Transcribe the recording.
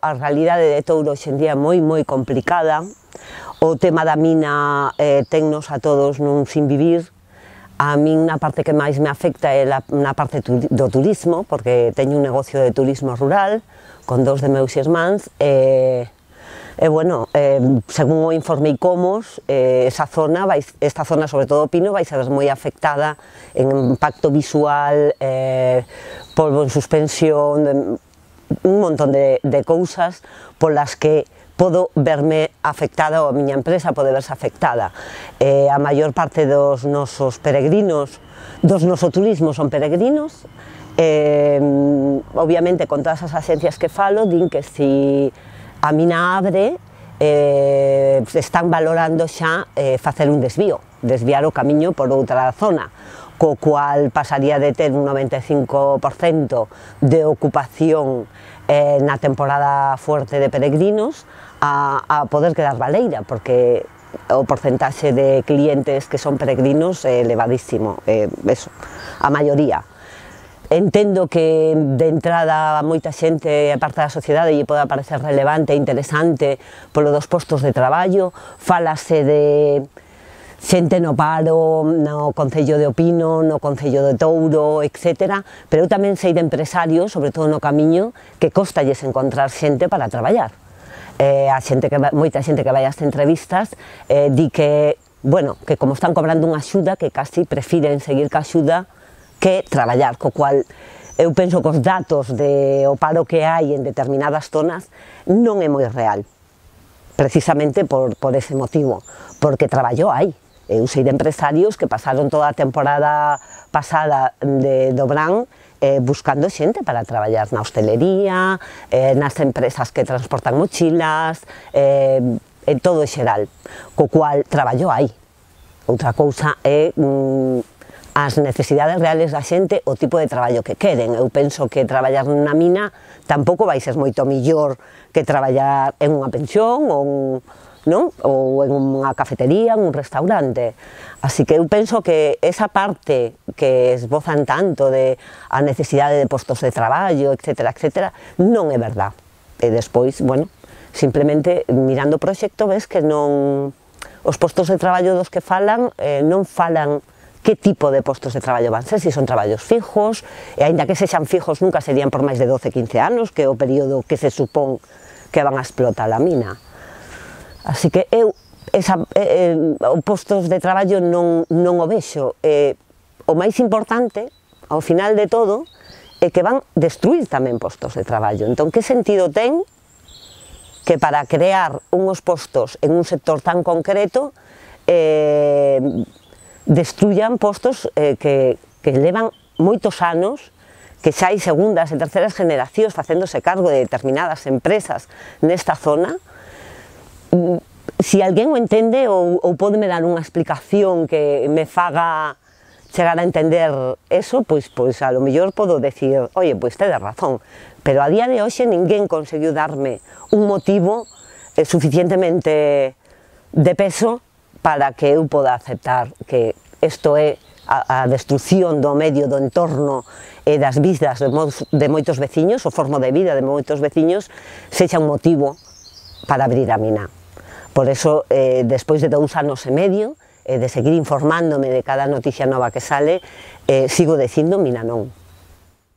A realidade de Touro hoxe en día é moi complicada. O tema da mina tennos a todos nun sin vivir. A min a parte que máis me afecta é na parte do turismo, porque teño un negocio de turismo rural con dous de meus irmáns bueno, según o informe ICOMOS, esta zona, sobre todo Pino, vai ser moi afectada en impacto visual, polvo en suspensión, un montón de cousas polas que podo verme afectada, ou a miña empresa pode verse afectada. A maior parte dos nosos peregrinos, dos noso turismo son peregrinos, obviamente con todas as axencias que falo, din que si a mina abre, están valorando xa facer un desviar o camiño por outra zona, co cual pasaría de ter un 95% de ocupación na temporada fuerte de peregrinos a poder quedar baleira, porque o porcentaxe de clientes que son peregrinos é elevadísimo, a maioría. Entendo que de entrada moita xente, a parte da sociedade, lle pode parecer relevante e interesante polo dos postos de traballo, fálase de xente no paro, no Concello de Opino, no Concello de Touro, etc. Pero eu tamén sei de empresarios, sobre todo no camiño, que costalles encontrar xente para traballar. Moita xente que vai ás entrevistas di que, bueno, que como están cobrando unha axuda, que casi prefiren seguir ca axuda que traballar, co cual eu penso que os datos do paro que hai en determinadas zonas non é moi real, precisamente por ese motivo, porque traballo hai. Eu sei de empresarios que pasaron toda a temporada pasada do verán buscando xente para traballar na hostelería, nas empresas que transportan mochilas, en todo en xeral, co cual traballo hai. Outra cousa é as necesidades reales da xente, o tipo de traballo que queren. Eu penso que traballar na mina tampouco vai ser moito millor que traballar en unha pensión ou en unha cafetería, en un restaurante. Así que eu penso que esa parte que esbozan tanto de a necesidade de postos de traballo, etc., non é verdad. E despois, bueno, simplemente mirando o proxecto ves que non, os postos de traballo dos que falan non falan que tipo de postos de traballo van ser, se son traballos fijos, e aínda que sexan fijos nunca serían por máis de 12-15 anos, que é o período que se supón que van a explotar a mina. Así que eu, postos de traballo non o vexo. O máis importante, ao final de todo, é que van destruir tamén postos de traballo. Entón, que sentido ten que para crear unhos postos en un sector tan concreto destruyan postos que levan moitos anos, que xa hai segundas e terceras generacións facéndose cargo de determinadas empresas nesta zona? Si alguén o entende ou pódeme dar unha explicación que me faga chegar a entender eso, pois a lo mellor podo decir, oye, pois tedes razón, pero a día de hoxe ninguén conseguiu darme un motivo suficientemente de peso para que eu poda aceptar que isto é a destrucción do medio, do entorno e das vidas de moitos veciños, o formo de vida de moitos veciños, sexa un motivo para abrir a mina. Por eso, despois de 2 anos e medio, de seguir informándome de cada noticia nova que sale, sigo dicindo mina non.